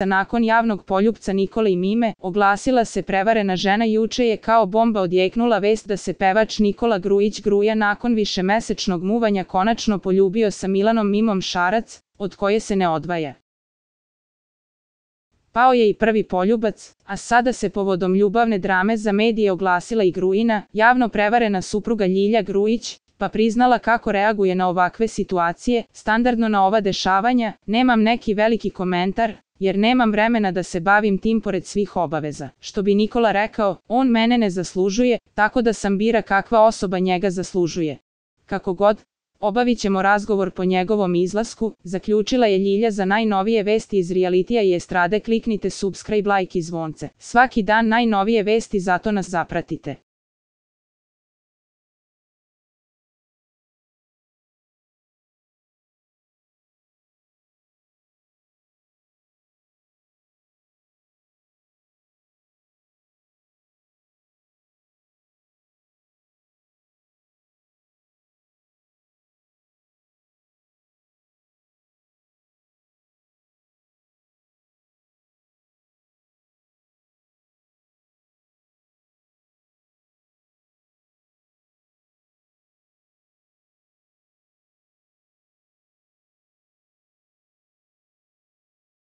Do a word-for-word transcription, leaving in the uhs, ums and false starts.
Nakon javnog poljupca Nikole i Mime, oglasila se prevarena žena. Juče je kao bomba odjeknula vest da se pevač Nikola Grujić Gruja nakon višemesečnog muvanja konačno poljubio sa Milanom Mimom Šarac, od koje se ne odvaja. Pao je i prvi poljubac, a sada se povodom ljubavne drame za medije oglasila i Grujina, javno prevarena supruga Ljilja Grujić, pa priznala kako reaguje na ovakve situacije. Standardno na ova dešavanja, nemam neki veliki komentar, jer nemam vremena da se bavim tim pored svih obaveza. Što bi Nikola rekao, on mene ne zaslužuje, tako da sam bira kakva osoba njega zaslužuje. Kako god, obavit ćemo razgovor po njegovom izlasku, zaključila je Ljilja. Za najnovije vesti iz realitija i estrade kliknite subscribe, like i zvonce. Svaki dan najnovije vesti, zato nas zapratite.